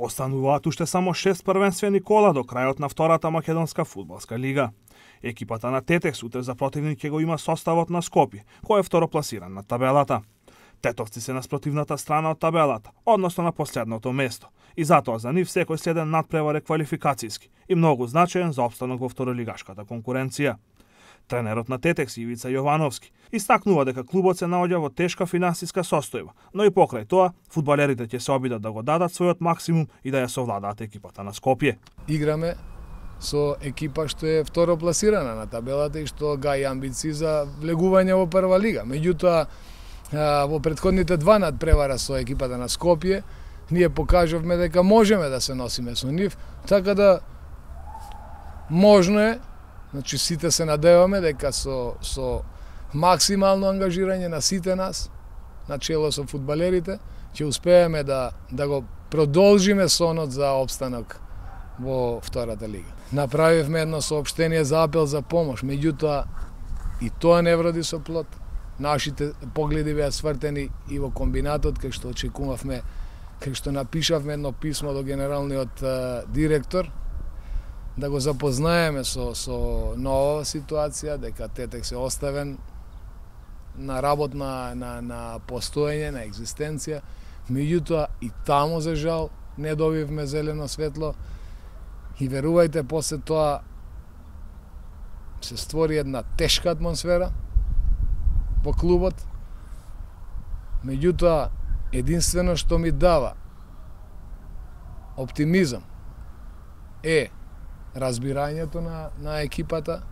Остануваат уште само 6 првенствени кола до крајот на втората македонска фудбалска лига. Екипата на Тетекс утре за противник ќе го има составот на Скопје, кој е второпласиран на табелата. Тетовци се на спротивната страна од табелата, односно на последното место, и затоа за нив секој следен надпревар е квалификацијски и многу значаен за опстанок во второлигашката конкуренција. Тренерот на Тетекс Ивица Јовановски истакнува дека клубот се наоѓа во тешка финансиска состојба, но и покрај тоа фудбалерите ќе се обидат да го дадат својот максимум и да ја совладаат екипата на Скопје. Играме со екипа што е второпласирана на табелата и што гаи амбиции за влегување во прва лига. Меѓутоа, во претходните два надпревара со екипата на Скопје, ние покажавме дека можеме да се носиме со нив, така да можно е, значи сите се надеваме дека со максимално ангажирање на сите нас, начело со фудбалерите, ќе успееме да го продолжиме сонот за опстанок во втората лига. Направивме едно соопштение за апел за помош, меѓутоа и тоа не вроди со плод. Нашите погледи беа свртени и во комбинатот, кај што очекувавме, кај што напишавме едно писмо до генералниот директор, да го запознаеме со нова ситуација, дека Тетекс е оставен на работа на постоење, на екзистенција. Меѓутоа и таму за жал не добивме зелено светло и верувајте, после тоа се створи една тешка атмосфера во клубот. Меѓутоа единствено што ми дава оптимизам е разбирањето на екипата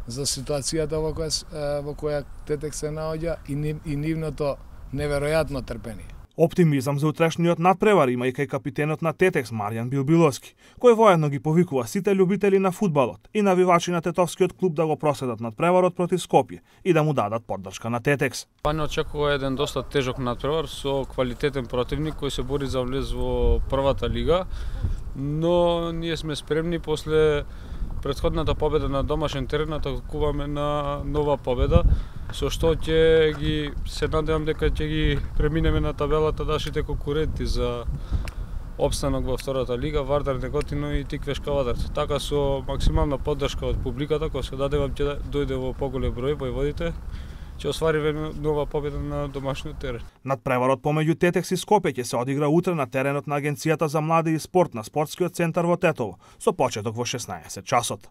за ситуацијата во која Тетекс се наоѓа и нивното неверојатно трпение. Оптимизам за утрешниот надпревар има и кај капитенот на Тетекс Маријан Билбиловски, кој воедно ги повикува сите љубители на фудбалот и навивачи на тетовскиот клуб да го проследат надпреварот против Скопје и да му дадат поддршка на Тетекс. Не очекува еден доста тежок надпревар со квалитетен противник кој се бори за влез во првата лига, но ние сме спремни после претходната победа на домашен терен да атакуваме на нова победа, со што ќе ги се надевам дека ќе ги преминеме на табелата нашите конкуренти за опстанок во втората лига, Вардар Неготино и Тиквеш Кавадар. Така со максимална поддршка од публиката, која се надевам ќе дојде во поголем број војводите, ќе освариме нова победа на домашниот терен. Надпреварот помеѓу Тетекс и Скопје ќе се одигра утре на теренот на Агенцијата за млади и спорт на спортскиот центар во Тетово, со почеток во 16 часот.